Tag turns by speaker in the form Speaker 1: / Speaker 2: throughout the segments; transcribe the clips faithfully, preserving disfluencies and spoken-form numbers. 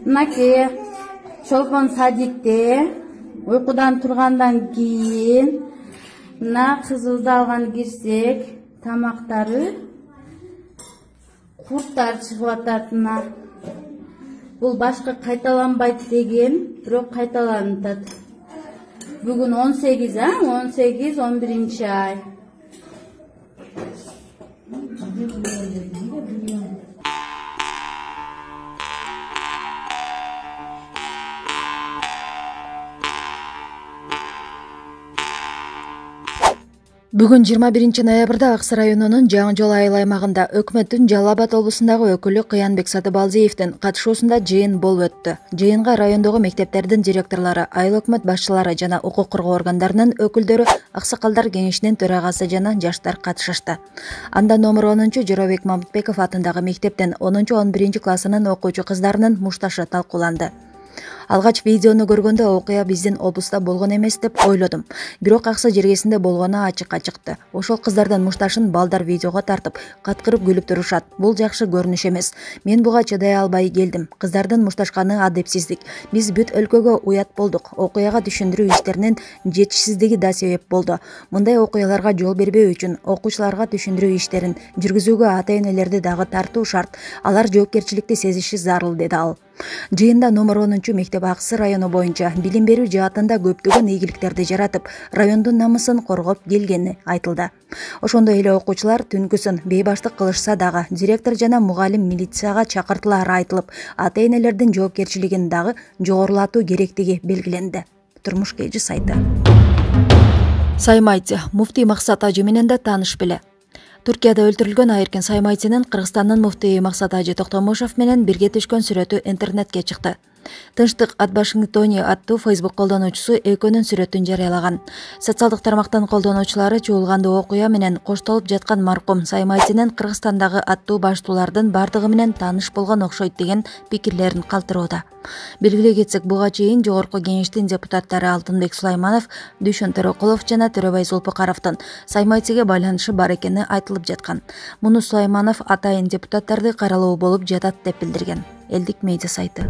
Speaker 1: Мынакей чолпон садикте уйкудан тургандан кийин мына кызыбызды алган кирсек, тамактары курттар чыгып атат. Мына бул башка кайталанбайт деген, бирок кайталанып атат. Бүгүн он сегиз, а? он сегиз он биринчи ай.
Speaker 2: Бүгүн жыйырма биринчи ноябрда Ак Сай районунун Жаңы Жол айыл аймагында өкмөттүн Жалал Абад облусундагы өкүлү Кыянбек Сатыбалдиевдин катышуусунда жыйын болуп өттү. Жыйынга райондогу мектептердин директорлору, айыл өкмөт башчылары жана укук коргоо органдарынын өкүлдөрү, аксакалдар кеңешинин төрагасы жана жаштар катышышты. Анда номер онунчу Жоробек Мамытбеков атындагы мектептин онунчу он биринчи классынын окуучу кыздарынын мушташы талкууланды. Алгач видеону көргөндө окуя биздин облуста болгон эмес деп ойлодум. Бирок Аксы жергесинде болгону ачыкка чыкты. Ошол кыздардын мушташын балдар видеого тартып, каткырып күлүп турушат. Бул жакшы көрүнүш эмес. Мен буга чыдай албай келдим. Кыздардын мушташканы адепсиздик. Биз бүт өлкөгө уят болдук. Окуяга түшүндүрүү иштеринин жетишсиздиги да себеп болду. Мындай окуяларга жол бербөө үчүн окуучуларга түшүндүрүү иштерин жүргүзүүгө ата-энелерди дагы тартуу шарт. Алар жоопкерчиликти сезиши зарыл, деди ал. Жыйында номер онунчу мектеп Аксы району боюнча билим берүү жаатында көптөгөн ийгиликтерди жаратып, райондун намысын коргоп келгени айтылды. Ошондой эле окуучулар түнкүсүн бейбаштык кылышса дагы директор жана мугалим милицияга чакыртылары айтылып, ата-энелердин жоопкерчилигин дагы жогорулатуу керектиги белгиленди. Турмуш Кежи сайты. Саймайчы муфтий Максат Ажы менен да тааныш беле. Түркияда өлтүрүлгөн Айыркен Саймайчынын Кыргызстандын муфтийи Максат Ажы Токтомушов менен бирге түшкөн сүрөтү интернетке чыкты. Тынчтык ат Вашингтоне аттуу Facebook колдонуучусу экөөнүн сүрөтүн жарыялаган. Социалдык тармактын колдонуучулары чуулганды окуя менен коштолуп жаткан маркум Саймайчынын Кыргызстандагы аттуу баштуулардын бардыгы менен тааныш болгон окшойт деген пикирлерин калтырууда. Белгилей кетсек, буга чейин Жогорку Кеңештин депутаттары Алтынбек Сулайманов, Дүйшөн Төрөкулов жана Төрөбай Зулпукаровдун Саймайчыга байланышы бар экени айтылып жаткан. Муну Сулайманов атайын депутаттарды каралуу болуп жатат деп билдирген. Элдик медиа сайты.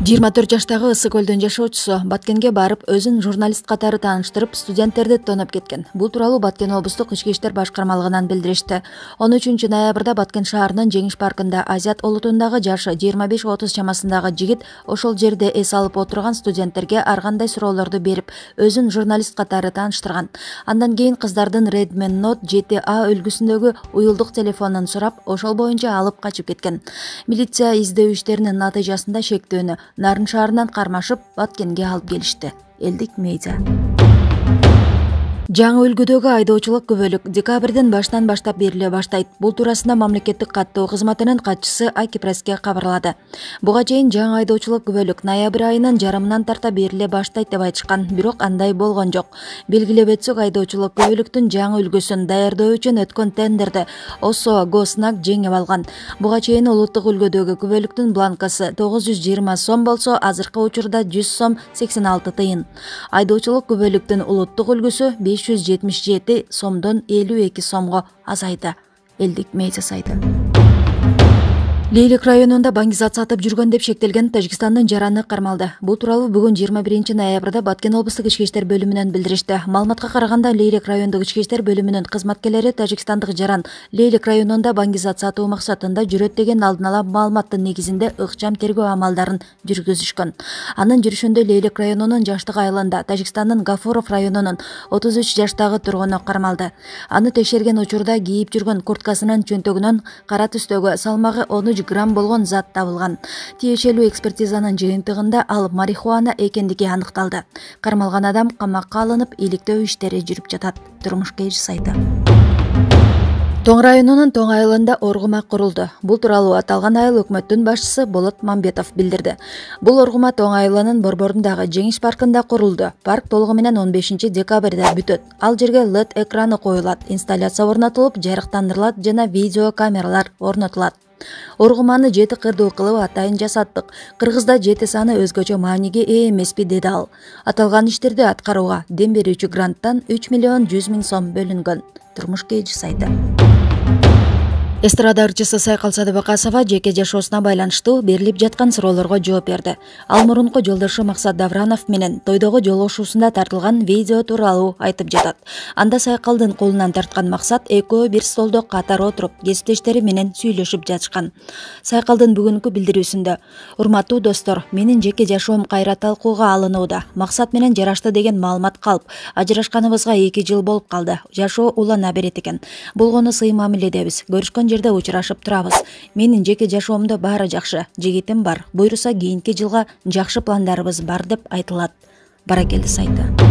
Speaker 2: жыйырма төрт жаштагы Ысык көлдүн жашоочусу Баткенге барып, өзүн журналист катары тааныштырып, студенттерди тоноп кеткен. Бул тууралуу Баткен облустук ички иштер башкармалыгынан билдиришти. он үчүнчү ноябрда Баткен шаарынын Жеңиш паркында Азият олутундагы жашы жыйырма беш отуз чамасындагы жигит ошол жерде эс алып отурган студенттерге ар кандай суроолорду берип, өзүн журналист катары тааныштырган. Андан кийин кыздардын Redmi Note жети А үлгүсүндөгү уюлдук телефонун сурап, ошол боюнча алып качып кеткен. Милиция издөө иштеринин натыйжасында шектөөнү Нарын шаарынан кармашып, Баткенге алып келишти. Элдик медиа. Жаңы үлгүдөгү айдоочулук күбөлүк декабрдын башынан баштап бериле баштайт. Бул туурасында мамлекеттик каттоо кызматынын катчысы Акипресске кабарлады. Буга чейин жаңы айдоочулук күбөлүк ноябрь айынын жарымынан тарта бериле баштайт деп айтышкан, бирок андай болгон жок. Белгилеп өтсөк, айдоочулук күбөлүктүн жаңы үлгүсүн даярдоо үчүн өткөн тендерди ОСО Госнак жеңип алган. Буга чейин улуттук үлгүдөгү күбөлүктүн бланкасы тогуз жүз жыйырма сом болсо, азыркы учурда жүз сом сексен алты тыйын. Айдоочулук күбөлүктүн улуттук үлгүсү беш жүз жетимиш жети сомдон элүү эки сомго азайды. Элдик медиа сайты. Лейлик районунда баңгизат сатып жүргөн деп шектелген Тажикстандын жараны кармалды. Бул тууралуу бүгүн жыйырма биринчи ноябрда Баткен облустук ички иштер бөлүмүнөн билдиришти. Маалыматка караганда, Лейлик райондук ички иштер бөлүмүнүн кызматкерлери Тажикстандык жаран Лейлик районунда баңгизат сатуу максатында жүрөт деген алдын ала маалыматтын негизинде ыкчам тергөө амалдарын жүргүзүшкөн. Анын жүрүшүндө Лейлик районунун Жаштык айылында Тажикстандын Гафуров районунун отуз үч жаштагы тургуну кармалды. Аны текшерген учурда кийип жүргөн курткасынын чөнтөгүнөн кара түстөгү салмагы он үч грамм болгон зат табылган. Тиешелүү экспертизанын жыйынтыгында ал марихуана экендиги аныкталды. Кармалган адам камакка алынып, иликтөө иштери жүрүп жатат. Турмуш Кежи сайты. Тоң районунун Тоң айылында оргума курулду. Бул тууралуу аталган айыл өкмөттүн башчысы Болот Мамбетов билдирди. Бул оргума Тоң айылынын борборундагы Жеңиш паркында курулду. Парк толугу менен он бешинчи декабрда бүтөт. Ал жерге эл и ди экраны коюлат, инсталляция орнотулуп, жарыктандырылат жана видео камералар орнотулат. Оргуманы жети кырдуу кылып атайын жасаттык. Кыргызда жети саны өзгөчө мааниге ээ эмеспи, деди ал. Аталган иштерди аткарууга дем берүүчү гранттан үч миллион жүз миң сом бөлүнгөн. Турмуш Кежи сайты. Эстрада ырчысы Сайкал Садыбакасова жеке жашоосуна байланыштуу берилип жаткан суроолорго жооп берди. Ал мурунку жолдошу Максат Давранов менен тойдогу жолугушуусунда тартылган видео тууралуу айтып жатат. Анда Сайкалдын колунан тарткан Максат экөө бир столдо катар отуруп, кесиптештери менен сүйлөшүп жатышкан. Сайкалдын бүгүнкү билдирүүсүндө: "Урматтуу достор, менин жеке жашоом кайра талкууга алынууда. Максат менен жарашты деген маалымат калп, ажырашканыбызга эки жыл болуп калды. Жашоо улана берет экен. Болгону сый мамиледебиз. Көрүшкөн жерде учурашып турабыз. Менин жеке жашоомдо баары жакшы. Жигитим бар. Буйруса кийинки жылга жакшы пландарыбыз бар" деп айтылат. Баракелди сайты.